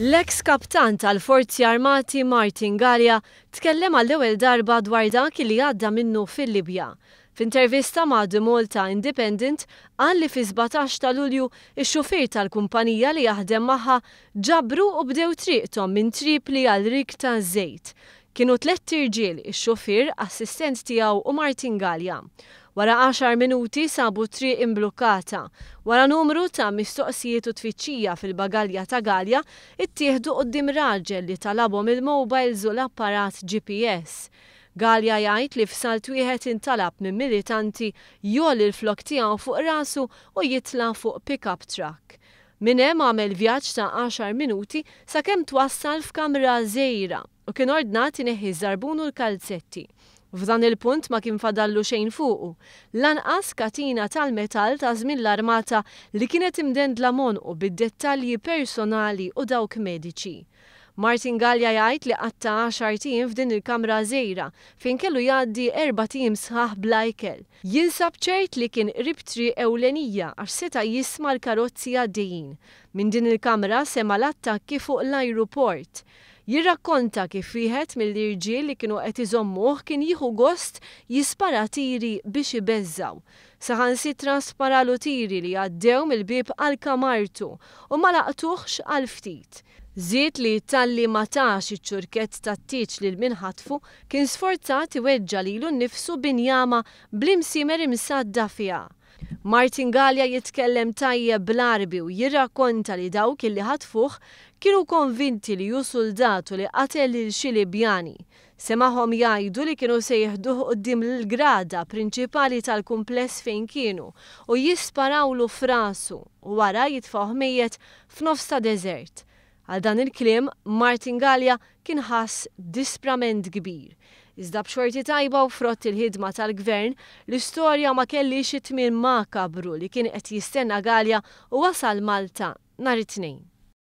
L-eks kaptan tal-Forzi Armati Martin Galea tkellem għall-ewwel darba dwar dak li għadda minnu fil-Libja. F'intervista ma' The Malta Independent qal li fis-17 ta' Lulju x-xufier tal-kumpanija li jaħdem magħha ġabru u bdew triqthom minn Tripli għal rig taż-żejt. Kienu tlett irġiel, ix-xufier, assistent tiegħu u Martin Galea. Wara għaxar minuti sabu t-triq imblukkata. Wara numru ta' mistoqsijiet u tfittxija fil-bagalja ta' Galea, ittieħdu quddiem raġel li talabhom il-mobiles u l-apparat GPS. Galea jgħid li f'salt wieħed intalab minn militanti jgħolli l-flokk tiegħu fuq rasu u jitla' fuq pick-up truck. Minn hemm għamel vjaġġ ta' għaxar minuti sakemm twassal f'kamra żgħira u kien ordnat ineħħi ż-żarbun u l-kalzetti. F'dan il-punt ma kien fadallu xejn fuqu, lanqas katina tal-metall ta' żmien l-armata li kienet imdendla m'għonqu bid-dettalji personali u dawk mediċi. Martin Galea jgħid li qatta' għaxart ijiem f'din il-kamra żgħira fejn kellu jgħaddi erbat ijiem sħaħ bla ikel. Jinsab ċert li kien qrib triq ewlenija għax seta' jisma' l-karozzi għaddejjin. Minn din il-kamra sema' l-attakki fuq l-ajruport. Jirrakkonta kif wieħed mill-irġiel li kienu qed iżommuh kien jieħu gost jispara tiri biex ibeżżgħu. Saħansitra sparalu tiri li għaddew mill-bieb għal kamartu u ma laqtuhx għal ftit. Żied li talli ma tax iċ-ċurkett tat-tieġ lil min ħatfu, kien sforzat iweġġa' lilu nnifsu b'injama bl-imsiemer imsadda fiha. Martin Galea jitkellem tajjeb bl-Għarbi u jirrakkonta li dawk illi ħatfuh kienu konvinti li hu suldat u li qatel lil xi Libjani. Semagħhom jgħidu li kienu se jieħduh quddiem l-grada prinċipali tal-kumpless fejn kienu u jisparawlu f'rasu u wara jitfgħuh mejjet f'nofs ta' deżert. Għal dan il-kliem, Martin Galea kien ħass disprament kbir. Iżda b'xorti tajba u frott il-ħidma tal-Gvern, l-istorja ma kellhiex it-tmiem makabru li kien qed jistenna Galea u wasal Malta nhar it-Tnejn.